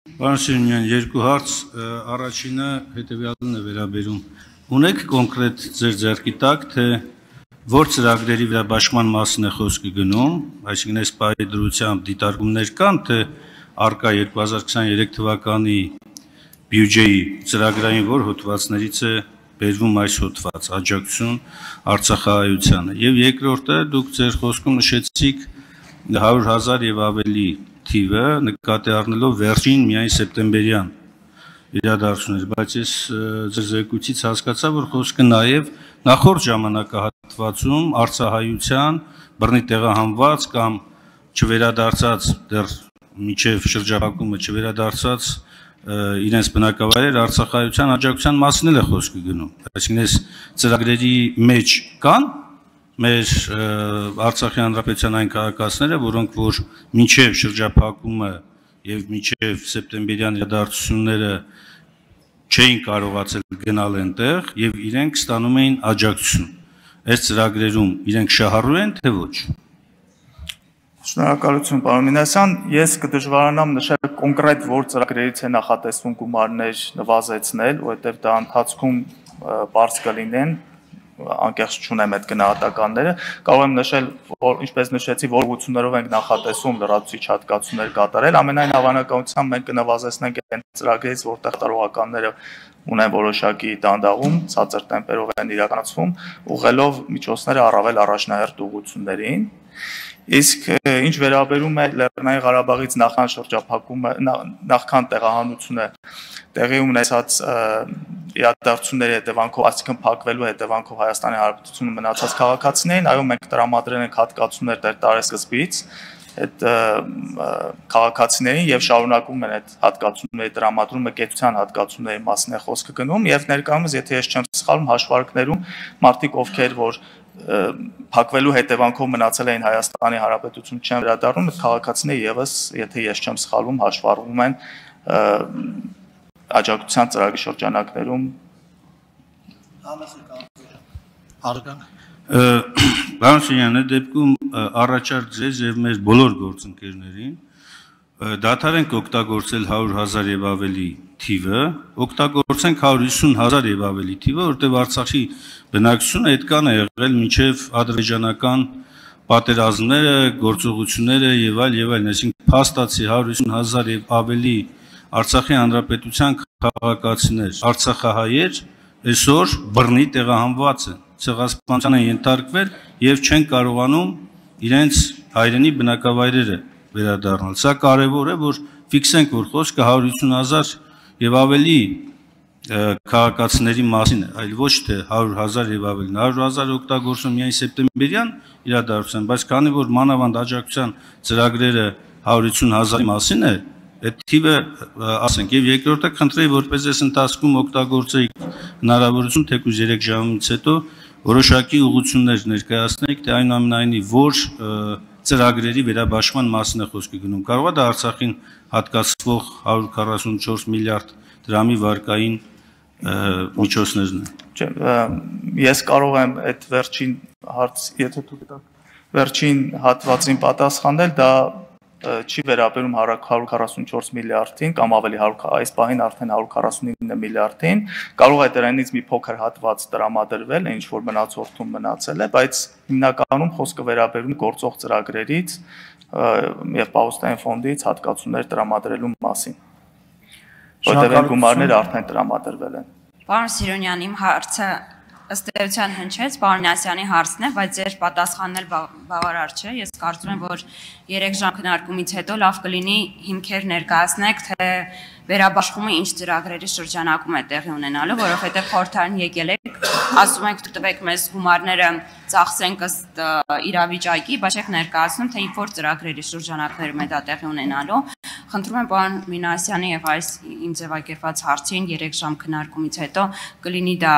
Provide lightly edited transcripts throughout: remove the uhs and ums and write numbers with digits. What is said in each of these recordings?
Պարոն Սիրունյան, երկու հարց, առաջինը հետևյալն է վերաբերում։ Ունեք կոնկրետ ձեր ձեռքի տակ, թե որ ծրագրերի վերաբաշխման մասին է խոսքը գնում, այսինքն այս պահի դրությամբ դիտարկումներ կան, թե առկա 2023 թվականի բյուջեի ծրագրային որ հոդվածներից է բերվում այս հոդված, աջակցություն Արցախահայությանը։ Եվ երկրորդը դուք ձեր խոսքում նշեցիք 100,000 եւ ավելի թիվը նկատի առնելով վերջին միայն սեպտեմբերյան իրադարձություններ, բայց ես ձեր զեկույցից հասկացա, որ խոսքը նաև նախորդ ժամանակահատվածում արցախահայության բռնի տեղահանված կամ չվերադարձած դեռ մինչև շրջափակումը չվերադարձած իրենց բնակավայրեր արցախահայության աջակցության մասին է խոսքը գնում։ Այսինքն այս ծրագրերի մեջ կան մեր Արցախի հանրապետության այն քաղաքացիները, որոնք որ մինչև շրջափակումը եւ մինչև սեպտեմբերյան իրադարձությունները չէին կարողացել գնալ այնտեղ եւ իրենք ստանում էին աջակցություն։ Այս ծրագրերում իրենք շահառու են թե ոչ։ Շնորհակալություն, պարոն Մինասյան, ես կդժվարանամ նշել կոնկրետ որ ծրագրերից է նախատեսվում գումարներ նվազեցնել, որովհետեւ դա ընթացքում բարձ կլինեն, անկեղծ չունեմ այդ գնահատականները, կարող եմ նշել, որ ինչպես նշեցի, որ ուղղություններով ենք նախատեսում լրացուցիչ հատկացումներ կատարել, ամենայն հավանականությամբ մենք կնվազեցնենք այն ծրագրերից, որտեղ տարողականները ունեն որոշակի դանդաղում, ցածր տեմպերով են իրականացվում, ուղղելով միջոցները առավել առաջնահերթ ուղղություններին։ Իսկ ինչ վերաբերում է Լեռնային Ղարաբաղից նախքան շրջափակումը, նախքան տեղահանությունը տեղի ունեցած իրադարձությունների հետևանքով, այսինքն փակվելու հետևանքով Հայաստանի Հանրապետությունում մնացած քաղաքացիներին, այո, մենք տրամադրել ենք հատկացումներ դեռ տարեսկզբից այդ քաղաքացիներին եւ շարունակում են այդ հատկացումների տրամադրումը կեցության հատկացումների մասին է խոսքը գնում եւ ներկայումս, եթե ես չեմ սխալվում, հաշվարկներում մարդիկ ովքեր որ փակվելու հետևանքով մնացել էին Հայաստանի Հանրապետություն չեն վերադառնում, այդ քաղաքացիները եւս, եթե ես չեմ սխալվում, հաշվառվում են աջակցության ծրագրի շրջանակներում։ Պարոն Սիրունյան, այդ դեպքում առաջարկ ձեզ եւ մեր բոլոր գործընկերներին դադար ենք օգտագործել 100,000 եւ ավելի թիվը, օգտագործենք 150,000 եւ ավելի թիվը, որտեղ Արցախի բնակչությունը այդքան է եղել մինչև ադրբեջանական պատերազմները, գործողությունները եւ այլն, այսինքն փաստացի 150,000 եւ ավելի Արցախի հանրապետության քաղաքացիներ, արցախահայեր այսօր բռնի տեղահանված են, ցեղասպանության են ենթարկվել եւ չեն կարողանում իրենց հայրենի բնակավայրերը վերադառնալ։ Սա կարևոր է, որ ֆիքսենք, որ խոսքը 150,000 եւ ավելի քաղաքացիների մասին է, այլ ոչ թե 100,000 եւ ավելի։ 100,000 օգտագործում միայն սեպտեմբերյան իրադարձության, բայց քանի որ մանավանդ աջակցության ծրագրերը 150,000-ի մասին է, այդ թիվը ասենք եւ երկրորդը խնդրեի որպես այս ընթացքում օգտագործեիք հնարավորություն թեկուզ 3 ժամից հետո որոշակի ուղղություններ ներկայացնեիք, թե այնուամենայնիվ որ ծրագրերի վերաբաշխման մասին է խոսքը գնում։ Կարող է դա Արցախին հատկացվող 144 միլիարդ դրամի վարկային միջոցներն են։ Չէ, ես կարող եմ այդ վերջին հարց, եթե դուք տաք, վերջին հատվածին պատասխանել, դա չի վերաբերում 144 միլիարդին կամ ավելի այս պահին արդեն 149 միլիարդին, կարող է դրանից մի փոքր հատված տրամադրվել, ինչ որ մնացորդում մնացել է, բայց հիմնականում խոսքը վերաբերում գործող ծրագրերից եւ պահոստային ֆոնդից հատկացումներ տրամադրելու մասին, որտեղ այն գումարները արդեն տրամադրվել են։ Պարոն Սիրունյան, իմ հարցը ըստ էության հնչեց, պարոն Մինասյանի հարցն է, բայց ձեր պատասխանն էլ բավարար չէ։ Ես կարծում եմ, որ 3 ժամ քննարկումից հետո լավ կլինի հիմքեր ներկայացնեք, թե վերաբաշխումը ինչ ծրագրերի շրջանակում է տեղի ունենալու, որովհետև խորհրդարան եկել եք, ասում եք տվեք մեզ գումարները ծախսենք ըստ իրավիճակի, բայց եք ներկայացնում, թե ինչ որ ծրագրերի շրջանակներում է դա տեղի ունենալու։ Խնդրում եմ պարոն Մինասյանի եւ այս իմ ձևակերպած հարցին 3 ժամ քննարկումից հետո կլինի դա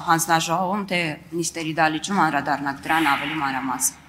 հանձնաժողովում, թե նիստերի դալիճում անդրադառնաք դրան ավելի մանրամասն։